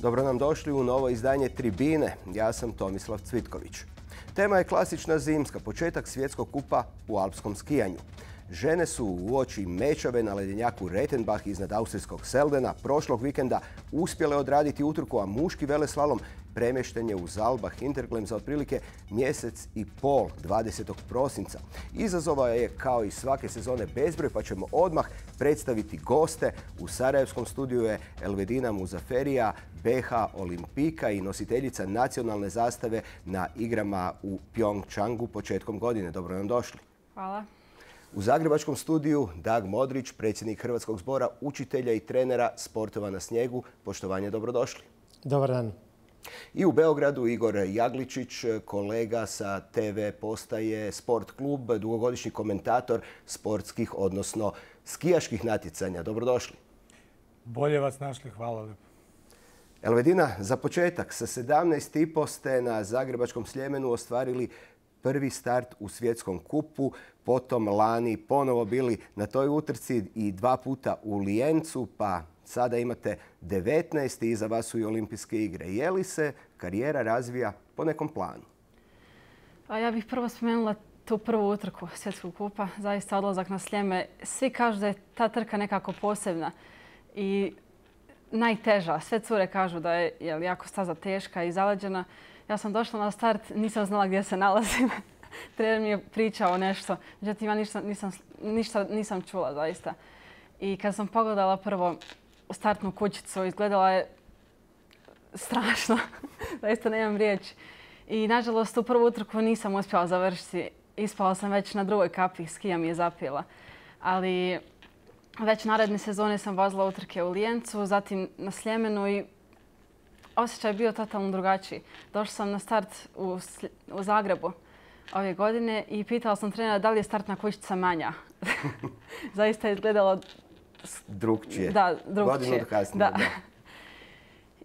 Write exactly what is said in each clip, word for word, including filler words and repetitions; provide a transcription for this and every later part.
Dobro nam došli u novo izdanje Tribine. Ja sam Tomislav Cvitković. Tema je klasična zimska, početak svjetskog kupa u alpskom skijanju. Žene su uoči mečave na ledenjaku Rettenbach iznad austrijskog Seldena prošlog vikenda uspjele odraditi utrku, a muški veleslalom premješten je u Zalbach Hinterglemm za otprilike mjesec i pol, dvadesetog prosinca. Izazova je kao i svake sezone bezbroj, pa ćemo odmah predstaviti goste. U sarajevskom studiju je Elvedina Muzaferija, B H Olimpika i nositeljica nacionalne zastave na igrama u Pyeongchangu početkom godine. Dobro nam došli. Hvala. U zagrebačkom studiju Dag Modrić, predsjednik Hrvatskog zbora učitelja i trenera sportova na snijegu. Poštovanje, dobrodošli. Dobar dan. I u Beogradu Igor Jagličić, kolega sa te ve postaje Sport klub, dugogodišnji komentator sportskih, odnosno skijaških natjecanja. Dobrodošli. Bolje vas našli, hvala lijepo. Elvedina, za početak, sa sedamnaest i po ste na Zagrebačkom Sljemenu ostvarili prvi start u svjetskom kupu, potom lani ponovo bili na toj utrci i dva puta u Lijencu, pa sada imate devetnaest i iza vas su i olimpijske igre. Je li se karijera razvija po nekom planu? A ja bih prvo spomenula tu prvu utrku svjetskog kupa, zaista odlazak na Sljeme. Svi kažu da je ta trka nekako posebna i najteža. Sve cure kažu da je jel, jako staza teška i zaleđena. Ja sam došla na start, nisam znala gdje se nalazim. Trener mi je pričao nešto, međutim ja ništa nisam, ništa nisam čula zaista. I kad sam pogledala prvo startnu kućicu, izgledala je strašno. Zaista nemam riječi. I nažalost u prvu utrku nisam uspjela završiti. Ispala sam već na drugoj kapi, skija mi je zapila. Ali već naredne sezone sam vozila utrke u Lijencu, zatim na Sljemenu i osjećaj je bio totalno drugačiji. Došla sam na start u, u Zagrebu ove godine i pitala sam trenera da li je startna kućica manja. Zaista je izgledalo drugčije. Da, drugčije. Godinu kasnije, da. da.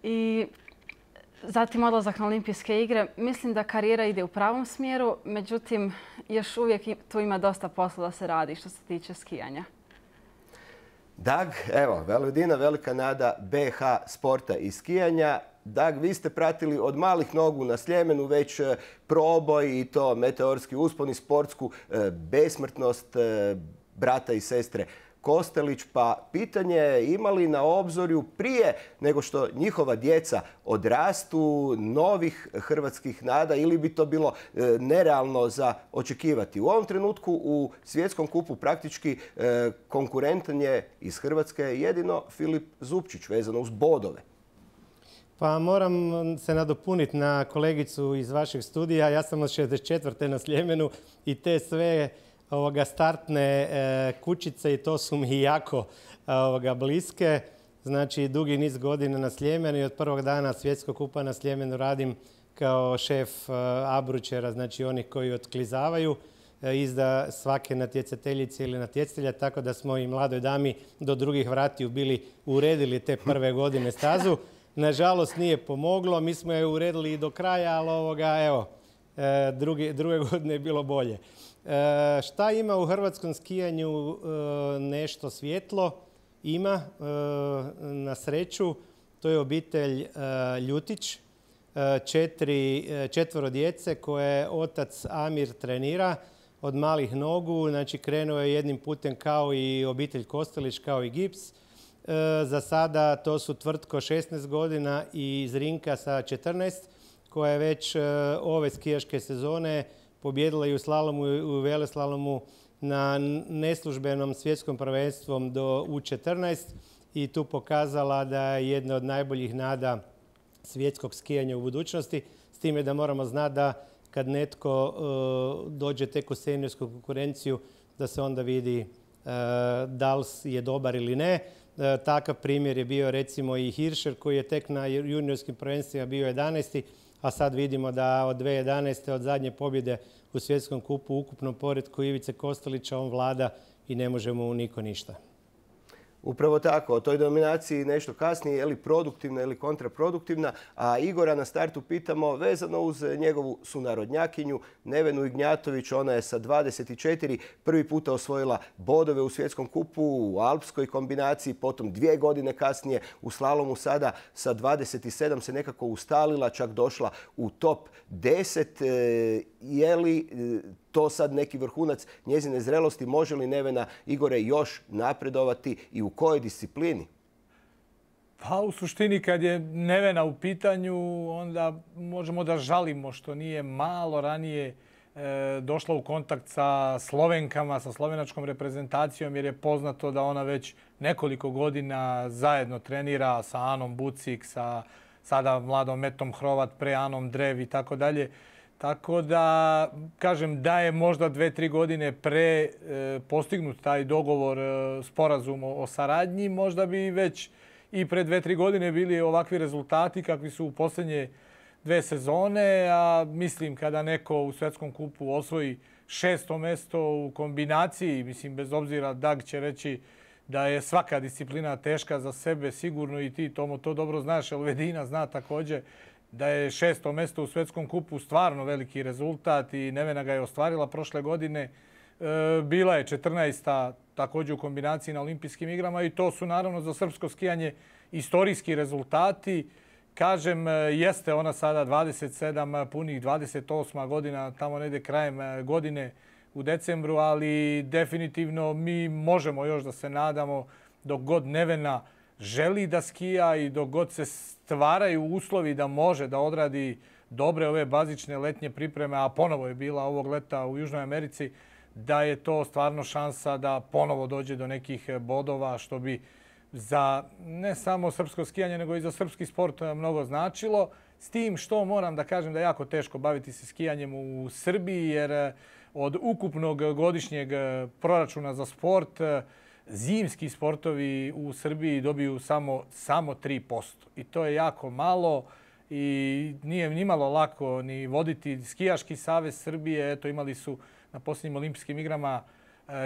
I zatim odlazak na olimpijske igre. Mislim da karijera ide u pravom smjeru, međutim još uvijek tu ima dosta posla da se radi što se tiče skijanja. Dag, evo, Elvedina, velika nada B H sporta i skijanja. Dag, vi ste pratili od malih nogu na Sljemenu već proboj i to meteorski uspon i sportsku besmrtnost brata i sestre Kostelić, pa pitanje je ima li na obzorju prije nego što njihova djeca odrastu novih hrvatskih nada ili bi to bilo nerealno za očekivati? U ovom trenutku u svjetskom kupu praktički konkurentan je iz Hrvatske jedino Filip Zupčić vezano uz bodove. Pa moram se nadopuniti na kolegicu iz vašeg studija. Ja sam od šezdeset četvrte na Sljemenu i te sve ovoga, startne e, kućice i to su mi jako ovoga, bliske. Znači, dugi niz godina na Sljemenu i od prvog dana svjetskog kupa na Sljemenu radim kao šef e, abručera, znači onih koji otklizavaju e, izda svake natjecateljice ili natjecatelja, tako da smo i mladoj dami do drugih vratiju bili uredili te prve godine stazu. Nažalost, nije pomoglo. Mi smo je uredili i do kraja, ali ovoga, evo, e, drugi, druge godine je bilo bolje. E, šta ima u hrvatskom skijanju e, nešto svjetlo? Ima, e, na sreću. To je obitelj e, Ljutić, e, četiri, četvoro djece koje otac Amir trenira od malih nogu. Znači, krenuo je jednim putem kao i obitelj Kostelić, kao i Gips. E, za sada to su Tvrtko šesnaest godina i Zrinka sa četrnaest, koja je već e, ove skijaške sezone pobjedila i u slalomu i u veleslalomu na neslužbenom svjetskom prvenstvom do U četrnaest i tu pokazala da je jedna od najboljih nada svjetskog skijanja u budućnosti. S time da moramo znati da kad netko uh, dođe tek u seniorsku konkurenciju, da se onda vidi uh, da li je dobar ili ne. Uh, takav primjer je bio recimo i Hirscher koji je tek na juniorskim prvenstvima bio jedanaesti, a sad vidimo da od dvije tisuće jedanaeste od zadnje pobjede u svjetskom kupu u ukupnom poretku Ivice Kostelića on vlada i ne može mu niko ništa. Upravo tako, o toj dominaciji nešto kasnije, je li produktivna ili kontraproduktivna, a Igora na startu pitamo vezano uz njegovu sunarodnjakinju Nevenu Ignjatović. Ona je sa dvadeset četiri prvi puta osvojila bodove u svjetskom kupu u alpskoj kombinaciji, potom dvije godine kasnije u slalomu sada sa dvadeset sedam se nekako ustalila, čak došla u top deset. Je li to sad neki vrhunac njezine zrelosti? Može li Nevena, Igore, još napredovati i u kojoj disciplini? Pa u suštini kad je Nevena u pitanju, onda možemo da žalimo što nije malo ranije e, došla u kontakt sa Slovenkama, sa slovenačkom reprezentacijom, jer je poznato da ona već nekoliko godina zajedno trenira sa Anom Bucik, sa sada mladom Metom Hrovat, pre Anom Drev i tako dalje. Tako da, kažem, da je možda dve, tri godine pre e, postignut taj dogovor, e, sporazum o, o saradnji, možda bi već i pre dve, tri godine bili ovakvi rezultati kakvi su u posljednje dve sezone. A mislim kada neko u svjetskom kupu osvoji šesto mesto u kombinaciji, mislim bez obzira Dag će reći da je svaka disciplina teška za sebe, sigurno i ti Tomo to dobro znaš, Elvedina zna također da je šesto mesto u svjetskom kupu stvarno veliki rezultat i Nevena ga je ostvarila prošle godine. E, bila je četrnaesta također u kombinaciji na olimpijskim igrama i to su naravno za srpsko skijanje istorijski rezultati. Kažem, jeste ona sada dvadeset sedam, punih dvadeset osma godina, tamo negdje krajem godine u decembru, ali definitivno mi možemo još da se nadamo dok god Nevena želi da skija i dok god se stvaraju uslovi da može da odradi dobre ove bazične letnje pripreme, a ponovo je bila ovog leta u Južnoj Americi, da je to stvarno šansa da ponovo dođe do nekih bodova, što bi za ne samo srpsko skijanje, nego i za srpski sport mnogo značilo. S tim što moram da kažem da je jako teško baviti se skijanjem u Srbiji, jer od ukupnog godišnjeg proračuna za sport zimski sportovi u Srbiji dobiju samo, samo tri posto. I to je jako malo i nije nimalo lako ni voditi Skijaški savez Srbije. Eto, imali su na posljednjim olimpijskim igrama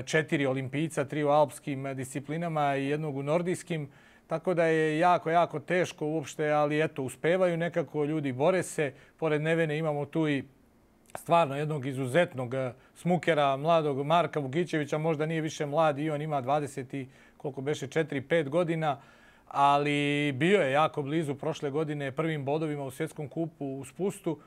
četiri olimpijca, tri u alpskim disciplinama i jednog u nordijskim. Tako da je jako, jako teško uopšte, ali eto, uspevaju nekako, ljudi bore se. Pored Nevene imamo tu i stvarno jednog izuzetnog smukera, mladog Marka Vugićevića, možda nije više mlad i on ima dvadeset i koliko beše četiri pet godina, ali bio je jako blizu prošle godine prvim bodovima u svjetskom kupu u spustu.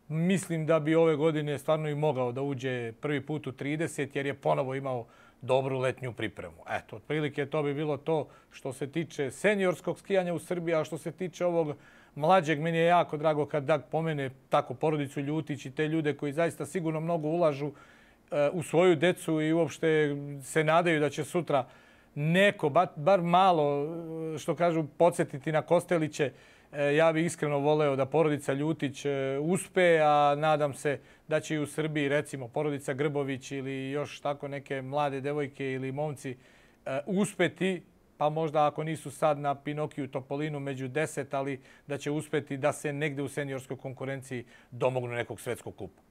Mislim da bi ove godine stvarno i mogao da uđe prvi put u trideset, jer je ponovo imao dobru letnju pripremu. Eto, otprilike to bi bilo to što se tiče seniorskog skijanja u Srbiji, a što se tiče ovog mlađeg, meni je jako drago kad Dag pomene tako porodicu Ljutić i te ljude koji zaista sigurno mnogo ulažu u svoju decu i uopšte se nadaju da će sutra neko, bar malo, što kažu, podsjetiti na Kosteliće. Ja bih iskreno voleo da porodica Ljutić uspe, a nadam se da će i u Srbiji, recimo, porodica Grbović ili još tako neke mlade devojke ili momci uspeti, pa možda ako nisu sad na Pinokiju Topolinu među deset, ali da će uspeti da se negde u seniorskoj konkurenciji domognu nekog svjetskog kupa.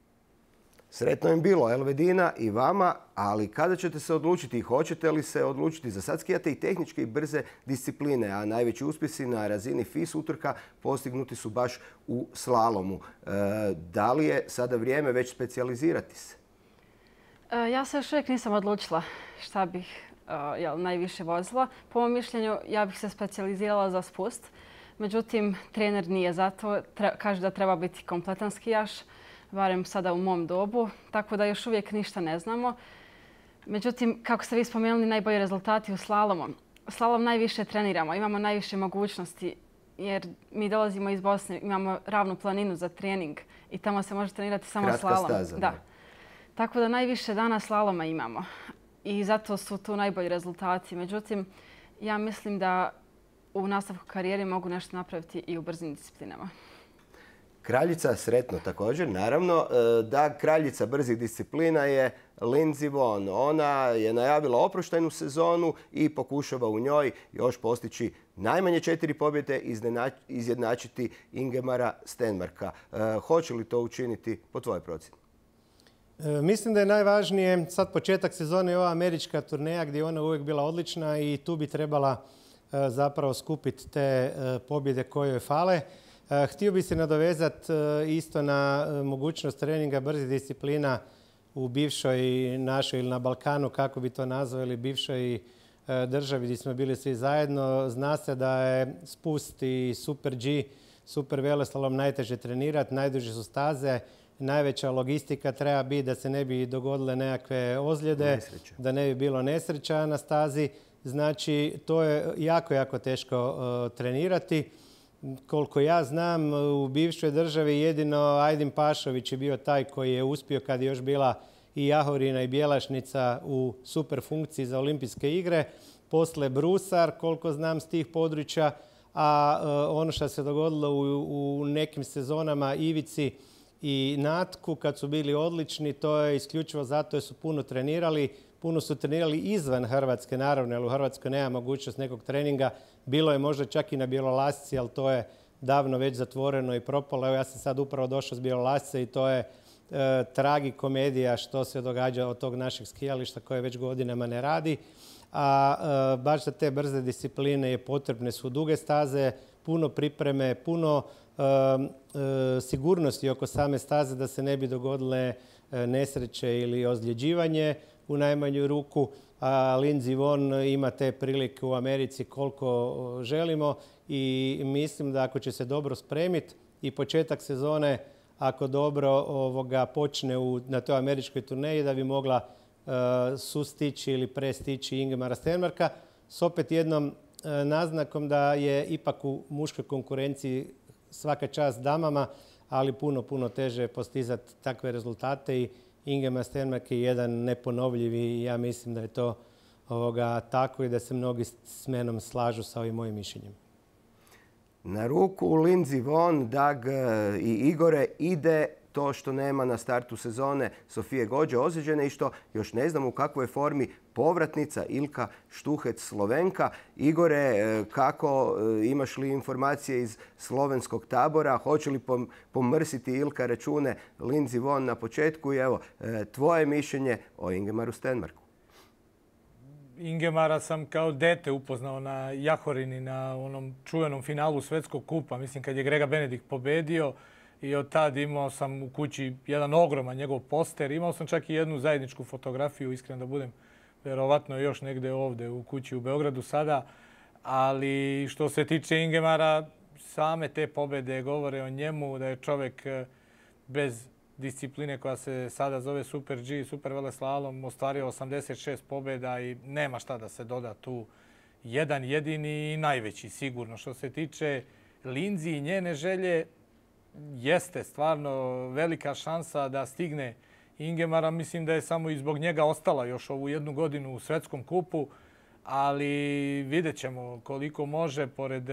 Sretno im bilo, Elvedina, i vama, ali kada ćete se odlučiti i hoćete li se odlučiti? Za sad skijate i tehničke i brze discipline, a najveći uspjesi na razini F I S utrka postignuti su baš u slalomu. E, da li je sada vrijeme već specijalizirati se? E, ja se još uvijek nisam odlučila šta bih uh, jel, najviše vozila. Po mom mišljenju, ja bih se specijalizirala za spust. Međutim, trener nije zato. Tre, kaže da treba biti kompletan skijaš, barem sada u mom dobu, tako da još uvijek ništa ne znamo. Međutim, kako ste vi spomenuli, najbolji rezultati u slalomu. Slalom najviše treniramo, imamo najviše mogućnosti, jer mi dolazimo iz Bosne, imamo ravnu planinu za trening i tamo se može trenirati samo kratka slalom. Staza, da. Tako da najviše dana slaloma imamo i zato su tu najbolji rezultati. Međutim, ja mislim da u nastavku karijere mogu nešto napraviti i u brzim disciplinama. Kraljica, sretno također, naravno. Da, kraljica brzih disciplina je Lindsey Vonn. Ona je najavila oproštajnu sezonu i pokušava u njoj još postići najmanje četiri pobjede, izjednačiti Ingemara Stenmarka. Hoće li to učiniti po tvojoj procjeni? Mislim da je najvažnije sad početak sezone i ova američka turneja gdje je ona uvijek bila odlična i tu bi trebala zapravo skupiti te pobjede koje joj fale. Htio bi se nadovezati isto na mogućnost treninga brzih disciplina u bivšoj našoj ili na Balkanu, kako bi to nazvali, bivšoj državi gdje smo bili svi zajedno. Zna se da je spust i Super G, super veleslalom najteže trenirati, najduže su staze, najveća logistika treba biti da se ne bi dogodile nekakve ozljede, nesreće. Da ne bi bilo nesreća na stazi. Znači, to je jako, jako teško uh, trenirati. Koliko ja znam, u bivšoj državi jedino Ajdin Pašović je bio taj koji je uspio kad je još bila i Jahorina i Bjelašnica u super funkciji za olimpijske igre. Posle Brusar, koliko znam s tih područja, a uh, ono što se dogodilo u, u nekim sezonama Ivici i Natku kad su bili odlični, to je isključivo zato jer su puno trenirali. Puno su trenirali izvan Hrvatske, naravno, jer u Hrvatskoj nema mogućnost nekog treninga. Bilo je možda čak i na Bjelolasci, ali to je davno već zatvoreno i propalo. Evo, ja sam sad upravo došao s Bjelolasce i to je e, tragikomedija što se događa od tog našeg skijališta koje već godinama ne radi. A e, baš za te brze discipline je potrebne su duge staze, puno pripreme, puno e, e, sigurnosti oko same staze da se ne bi dogodile e, nesreće ili ozljeđivanje u najmanju ruku. A Lindsey Vonn ima te prilike u Americi koliko želimo i mislim da ako će se dobro spremiti i početak sezone, ako dobro ovoga počne u, na toj američkoj turneji, da bi mogla uh, sustići ili prestići Ingemara Stenmarka s opet jednom uh, naznakom da je ipak u muškoj konkurenciji svaka čast damama, ali puno, puno teže postizati takve rezultate i Ingemar Stenmark je jedan neponovljivi i ja mislim da je to ovoga, tako i da se mnogi s menom slažu sa ovim mojim mišljenjem. Na ruku Lindsey Vonn, Dag i Igore ide to što nema na startu sezone Sofije Gođe ozlijeđene i što još ne znam u kakvoj formi povratnica Ilka Štuhec Slovenka. Igore, kako, imaš li informacije iz slovenskog tabora? Hoće li pomrsiti Ilka račune Lindsey Vonn na početku? I evo, tvoje mišljenje o Ingemaru Stenmarku. Ingemara sam kao dete upoznao na Jahorini, na onom čuvenom finalu Svetskog kupa. Mislim, kad je Grega Benedikt pobedio i od tad imao sam u kući jedan ogroman njegov poster. Imao sam čak i jednu zajedničku fotografiju, iskreno da budem, verovatno još negde ovde u kući u Beogradu sada. Ali što se tiče Ingemara, same te pobede govore o njemu, da je čovjek bez discipline koja se sada zove Super G, Super veleslalom, ostvario osamdeset šest pobjeda i nema šta da se doda tu. Jedan jedini i najveći sigurno. Što se tiče Lindsey i njene želje, jeste stvarno velika šansa da stigne Ingemara. Mislim da je samo i zbog njega ostala još ovu jednu godinu u Svetskom kupu, ali vidjet ćemo koliko može pored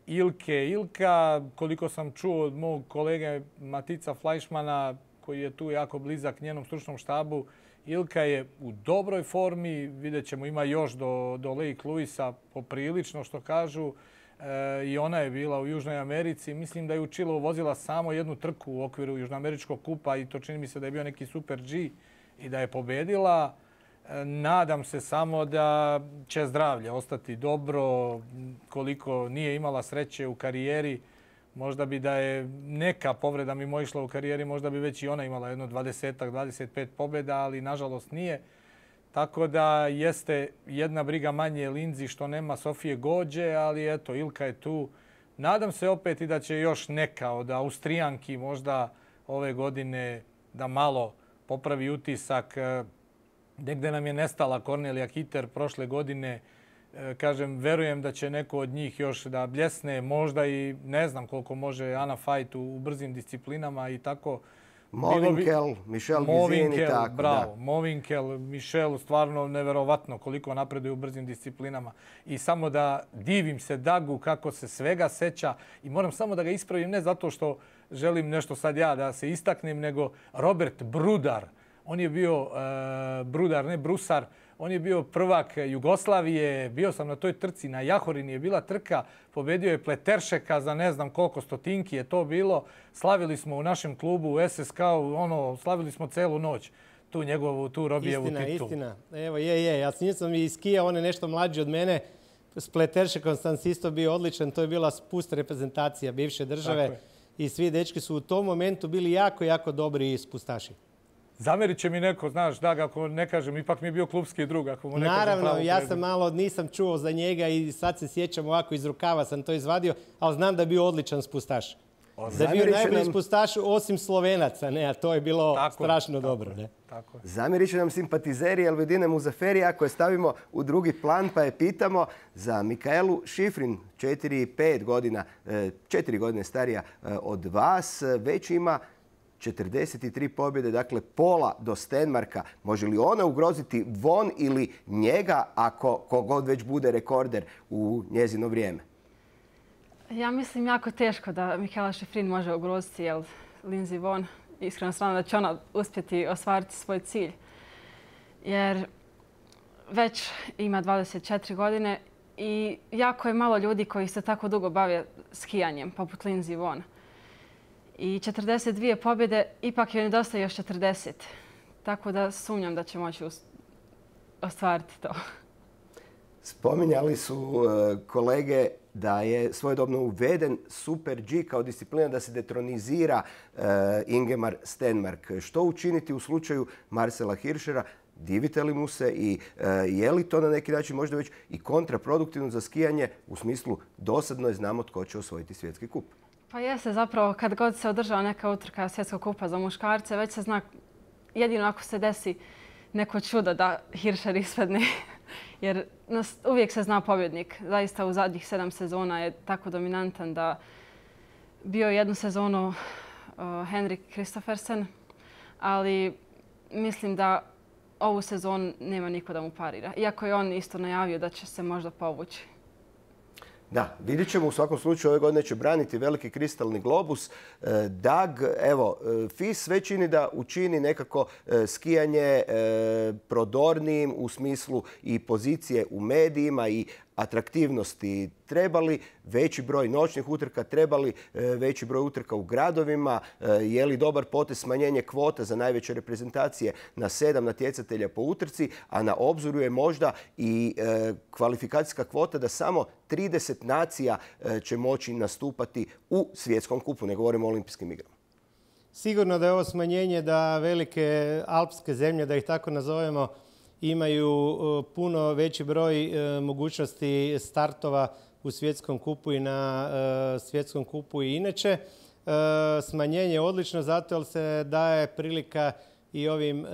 Ilke. Ilka, koliko sam čuo od mog kolege Matica Fleischmana, koji je tu jako blizak njenom stručnom štabu, Ilka je u dobroj formi. Vidjet ćemo, ima još do, do Lake Louisa poprilično što kažu. E, I ona je bila u Južnoj Americi. Mislim da je u Chileu vozila samo jednu trku u okviru Južnoameričkog kupa i to čini mi se da je bio neki Super G i da je pobedila. E, nadam se samo da će zdravlje ostati dobro. Koliko nije imala sreće u karijeri, možda bi da je neka povreda mimo išla u karijeri, možda bi već i ona imala jedno dvadeset dvadeset pet pobjeda, ali nažalost nije. Tako da jeste jedna briga manje Lindsey što nema Sofije Gođe, ali eto, Ilka je tu. Nadam se opet i da će još neka od Austrijanki možda ove godine da malo popravi utisak. Negde nam je nestala Kornelija Kiter prošle godine. Kažem, verujem da će neko od njih još da bljesne. Možda i ne znam koliko može Ana Fajt u, u brzim disciplinama i tako. Movinkel, Michel Gizin i tako. Bravo, Movinkel, Michel, stvarno neverovatno koliko napreduje u brzim disciplinama. I samo da divim se Dagu kako se svega seća i moram samo da ga ispravim, ne zato što želim nešto sad ja da se istaknem, nego Robert Brudar. On je bio uh, Brudar, ne Brusar. On je bio prvak Jugoslavije, bio sam na toj trci, na Jahorini je bila trka, pobedio je Pleteršeka za ne znam koliko stotinki je to bilo. Slavili smo u našem klubu u S S K-u, ono, slavili smo celu noć tu njegovu, tu Robijevu istina, titulu. Istina, istina. Evo, je, je. Ja s njim sam i skijao, on je nešto mlađi od mene. S Pleteršekom sam isto bio odličan. To je bila spust reprezentacija bivše države. I svi dečki su u tom momentu bili jako, jako dobri spustaši. Zamerit će mi neko, znaš, da, ako ne kažem, ipak mi je bio klubski drug. Ako mu ne Naravno, ja sam malo, nisam čuo za njega i sad se sjećam ovako iz rukava sam to izvadio, ali znam da je bio odličan spustaš. Da je bio najbolji spustaš osim Slovenaca, ne, a to je bilo tako, strašno tako, dobro. Ne? Tako. Zamjerit će nam simpatizeri Elvedine Muzaferija koje stavimo u drugi plan pa je pitamo za Mikaelu Šifrin, četiri pet godina, četiri godine starija od vas, već ima četrdeset tri pobjede, dakle pola do Stenmarka. Može li ona ugroziti Von ili njega ako kogod već bude rekorder u njezino vrijeme? Ja mislim jako teško da Mikaela Šifrin može ugroziti, jer Lindsey Vonn, iskreno stvarno da će ona uspjeti ostvariti svoj cilj. Jer već ima dvadeset četiri godine i jako je malo ljudi koji se tako dugo bave skijanjem, poput Lindsey Vonn. I četrdeset dvije pobjede, ipak joj nedostaje još četrdeset. Tako da sumnjam da će moći ostvariti to. Spominjali su kolege da je svojedobno uveden Super G kao disciplina da se detronizira Ingemar Stenmark. Što učiniti u slučaju Marcela Hirschera? Divite li mu se i je li to na neki način možda već i kontraproduktivno za skijanje u smislu dosadno je znamo tko će osvojiti svjetski kup? Pa jeste, zapravo kad god se održava neka utrka svjetskog kupa za muškarce, već se zna jedino ako se desi neko čudo da Hirscher ispadne. Jer uvijek se zna pobjednik. Zaista u zadnjih sedam sezona je tako dominantan da bio jednu sezonu Henrik Kristoffersen, ali mislim da ovu sezonu nema niko da mu parira. Iako je on isto najavio da će se možda povući. Da, vidjet ćemo u svakom slučaju ove godine će braniti veliki kristalni globus. Dag, evo, F I S sve čini da učini nekako skijanje prodornijim u smislu i pozicije u medijima i atraktivnosti. Trebali veći broj noćnih utrka, trebali veći broj utrka u gradovima, je li dobar potez smanjenje kvota za najveće reprezentacije na sedam natjecatelja po utrci, a na obzoru je možda i kvalifikacijska kvota da samo trideset nacija će moći nastupati u svjetskom kupu, ne govorimo o olimpijskim igrama. Sigurno da je ovo smanjenje da velike alpske zemlje, da ih tako nazovemo, imaju puno veći broj mogućnosti startova u svjetskom kupu i na svjetskom kupu i inače. Smanjenje je odlično zato jer se daje prilika i ovim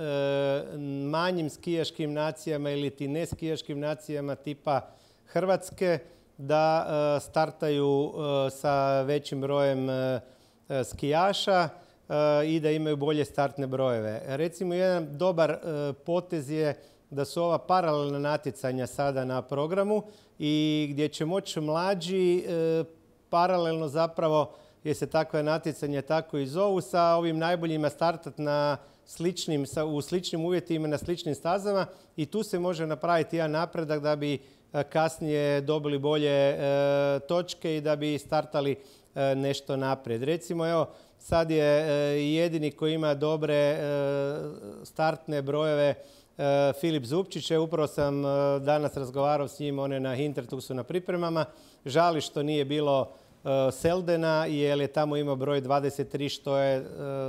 manjim skijaškim nacijama ili ti ne skijaškim nacijama tipa Hrvatske da startaju sa većim brojem skijaša i da imaju bolje startne brojeve. Recimo, jedan dobar potez je da su ova paralelna natjecanja sada na programu i gdje će moći mlađi paralelno zapravo, jer se takva natjecanja tako i zovu, sa ovim najboljima startati na sličnim, u sličnim uvjetima na sličnim stazama i tu se može napraviti jedan napredak da bi kasnije dobili bolje točke i da bi startali nešto naprijed. Recimo, evo, sad je jedini koji ima dobre startne brojeve Filip Zupčić. Upravo sam danas razgovarao s njim, on je na Hintertuxu na pripremama. Žali što nije bilo Seldena, jer je tamo imao broj dvadeset tri, što je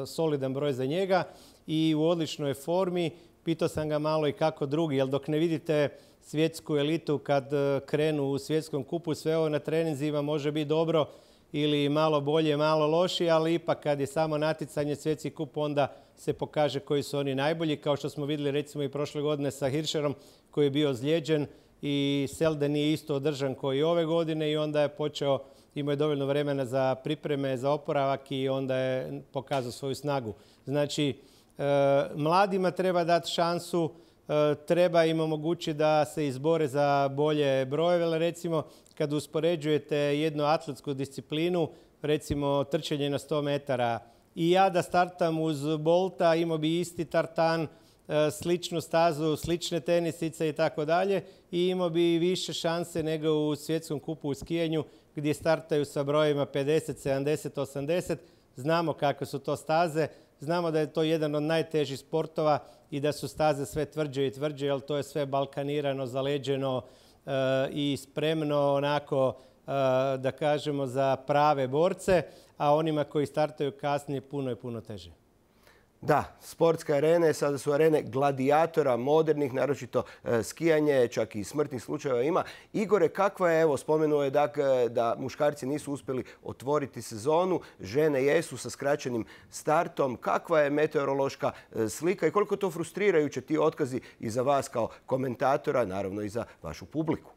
solidan broj za njega i u odličnoj formi. Pitao sam ga malo i kako drugi, jer dok ne vidite svjetsku elitu kad krenu u svjetskom kupu, sve ovo na treninzima može biti dobro ili malo bolje, malo lošije, ali ipak kad je samo natjecanje svjetski kup, onda se pokaže koji su oni najbolji. Kao što smo vidjeli recimo i prošle godine sa Hirscherom koji je bio ozlijeđen i Selden nije isto održan koji ove godine i onda je počeo, imao je dovoljno vremena za pripreme, za oporavak i onda je pokazao svoju snagu. Znači, mladima treba dati šansu, treba im omogućiti da se izbore za bolje brojeve. Recimo, kad uspoređujete jednu atletsku disciplinu, recimo trčanje na sto metara, i ja da startam uz Bolta, imao bi isti tartan sličnu stazu, slične tenisice i tako dalje i imao bi više šanse nego u svjetskom kupu u skijanju gdje startaju sa brojima pedeset, sedamdeset, osamdeset. Znamo kakve su to staze, znamo da je to jedan od najtežih sportova i da su staze sve tvrđe i tvrđe, jer to je sve balkanirano, zaleđeno i spremno onako, da kažemo, za prave borce, a onima koji startaju kasnije puno je puno teže. Da, sportske arene sada su arene gladijatora, modernih, naročito skijanje, čak i smrtnih slučajeva ima. Igore, kakva je, evo, spomenuo je da muškarci nisu uspjeli otvoriti sezonu, žene jesu sa skraćenim startom. Kakva je meteorološka slika i koliko je to frustrirajuće ti otkazi i za vas kao komentatora, naravno i za vašu publiku?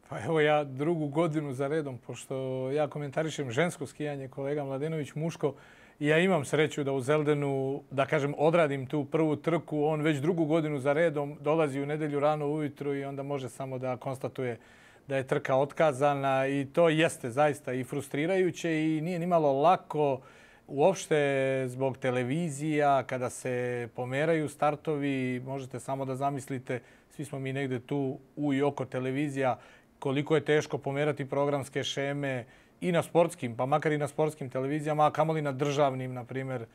Pa evo ja drugu godinu za redom, pošto ja komentarišem žensko skijanje, kolega Mladenović muško, i ja imam sreću da u Zeldenu, da kažem, odradim tu prvu trku. On već drugu godinu za redom dolazi u nedjelju rano ujutru i onda može samo da konstatuje da je trka otkazana i to jeste zaista i frustrirajuće i nije nimalo lako uopšte zbog televizija kada se pomeraju startovi. Možete samo da zamislite, svi smo mi negde tu u i oko televizija, koliko je teško pomerati programske šeme i na sportskim, pa makar i na sportskim televizijama, a kamoli na državnim, na primjer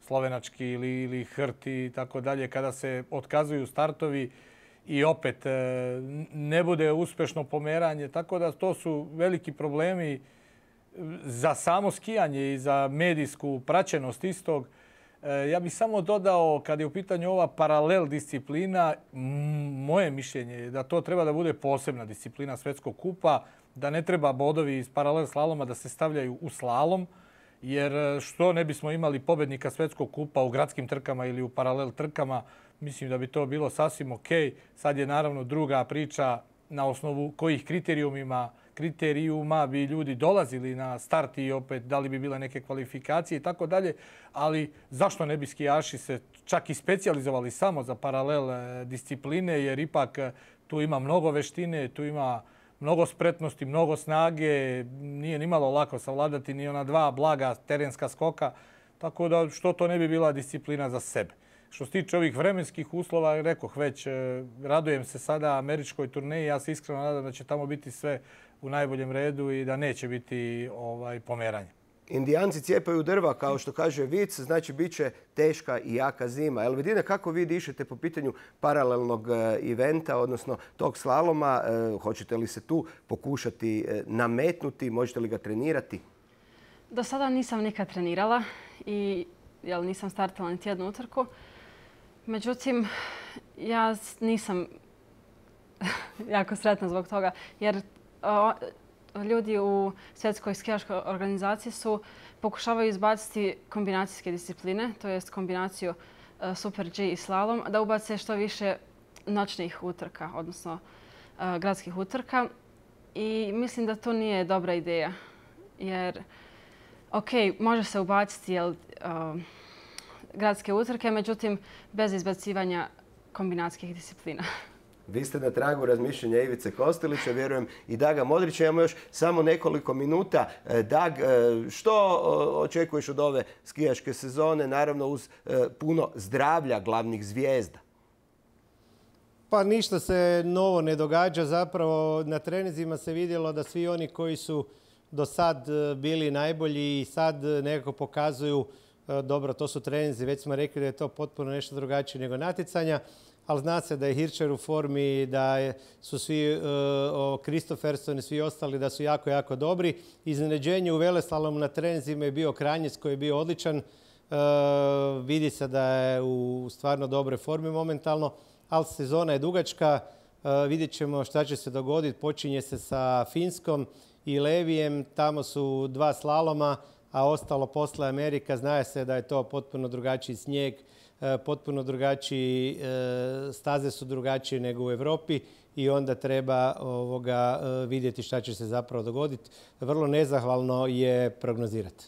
slovenački ili, ili Hrti i tako dalje, kada se otkazuju startovi i opet ne bude uspešno pomeranje. Tako da to su veliki problemi za samo skijanje i za medijsku praćenost istog. Ja bih samo dodao, kada je u pitanju ova paralel disciplina, moje mišljenje je da to treba da bude posebna disciplina svetskog kupa, da ne treba bodovi iz paralel slaloma da se stavljaju u slalom, jer što ne bismo imali pobednika svetskog kupa u gradskim trkama ili u paralel trkama, mislim da bi to bilo sasvim ok. Sad je naravno druga priča na osnovu kojih kriterijumima kriterijuma bi ljudi dolazili na start i opet da li bi bile neke kvalifikacije i tako dalje, ali zašto ne bi skijaši se čak i specijalizovali samo za paralel discipline, jer ipak tu ima mnogo veštine, tu ima mnogo spretnosti, mnogo snage, nije nimalo lako savladati ni ona dva blaga terenska skoka, tako da što to ne bi bila disciplina za sebe. Što se tiče ovih vremenskih uslova, rekoh već, radujem se sada američkoj turneji, ja se iskreno nadam da će tamo biti sve u najboljem redu i da neće biti ovaj, pomeranje. Indijanci cijepaju drva, kao što kaže vic, znači bit će teška i jaka zima. Elvedine, kako vi dišete po pitanju paralelnog eventa, odnosno tog slaloma? Hoćete li se tu pokušati nametnuti? Možete li ga trenirati? Do sada nisam nikad trenirala i jel, nisam startala niti jednu utrku. Međutim, ja nisam jako sretna zbog toga, jer o, ljudi u svjetskoj skijaškoj organizaciji su pokušavaju izbaciti kombinacijske discipline, to jest kombinaciju uh, Super G i slalom, da ubace što više noćnih utrka, odnosno uh, gradskih utrka. I mislim da to nije dobra ideja, jer ok, može se ubaciti jel, uh, gradske utrke, međutim bez izbacivanja kombinacijskih disciplina. Vi ste na tragu razmišljanja Ivice Kostelića, vjerujem i Daga Modrića. Imamo još samo nekoliko minuta. Dag, što očekuješ od ove skijaške sezone, naravno uz puno zdravlja glavnih zvijezda? Pa ništa se novo ne događa. Zapravo na treninzima se vidjelo da svi oni koji su do sad bili najbolji i sad nekako pokazuju, dobro, to su treninzi, već smo rekli da je to potpuno nešto drugačije nego natjecanja, ali zna se da je Hirscher u formi, da su svi Kristofferson i svi ostali da su jako, jako dobri. Iznenađenje u veleslalomu na treninzima je bio Kranjec koji je bio odličan. Vidi se da je u stvarno dobre formi momentalno, ali sezona je dugačka. Vidjet ćemo šta će se dogoditi. Počinje se sa Finskom i Levijem. Tamo su dva slaloma, a ostalo posle Amerika. Zna se da je to potpuno drugačiji snijeg, potpuno drugačiji, staze su drugačije nego u Evropi i onda treba ovoga vidjeti šta će se zapravo dogoditi. Vrlo nezahvalno je prognozirati.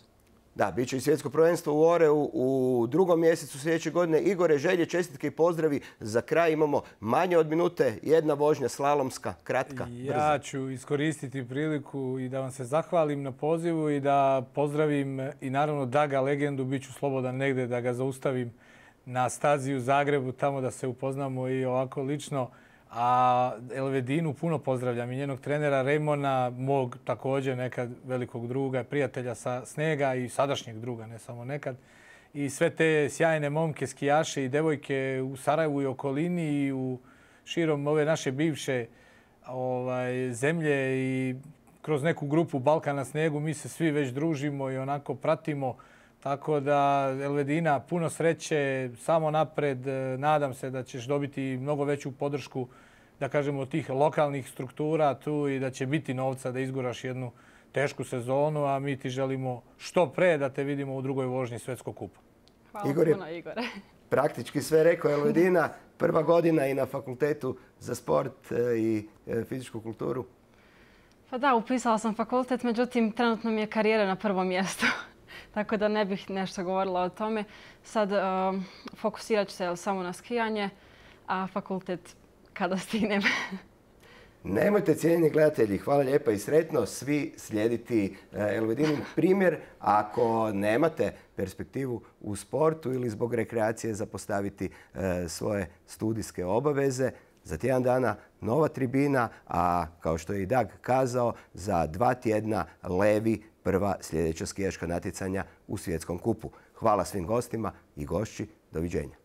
Da, bit će i svjetsko prvenstvo u Oreu u drugom mjesecu sljedeće godine. Igore, želje, čestitke i pozdravi. Za kraj imamo manje od minute, jedna vožnja slalomska, kratka, brza. Ja ću iskoristiti priliku i da vam se zahvalim na pozivu i da pozdravim i naravno Daga legendu. Biću slobodan negde da ga zaustavim na stazi u Zagrebu, tamo da se upoznamo i ovako lično. A Elvedinu puno pozdravljam i njenog trenera Rejmona, mog također nekad velikog druga, prijatelja sa snega i sadašnjeg druga, ne samo nekad. I sve te sjajne momke, skijaše i devojke u Sarajevu i okolini i u širom ove naše bivše ovaj, zemlje i kroz neku grupu Balkan na snegu mi se svi već družimo i onako pratimo. Tako da, Elvedina, puno sreće, samo napred. Nadam se da ćeš dobiti mnogo veću podršku, da kažemo, od tih lokalnih struktura tu i da će biti novca da izguraš jednu tešku sezonu, a mi ti želimo što pre da te vidimo u drugoj vožnji Svjetskog kupa. Hvala Igor je puno, Igore. Praktički sve rekao. Elvedina, prva godina i na fakultetu za sport i fizičku kulturu. Pa da, upisala sam fakultet, međutim, trenutno mi je karijera na prvom mjestu. Tako da ne bih nešto govorila o tome. Sad uh, fokusirat ću se samo na skijanje, a fakultet kada stignem. Nemojte, cijenjeni gledatelji, hvala lijepa i sretno, svi slijediti Elvedinin primjer. Ako nemate perspektivu u sportu ili zbog rekreacije zapostaviti svoje studijske obaveze, za tjedan dana nova tribina, a kao što je i Dag kazao, za dva tjedna Levi, prva sljedeća skijaška natjecanja u Svjetskom kupu. Hvala svim gostima i gošći. Doviđenja.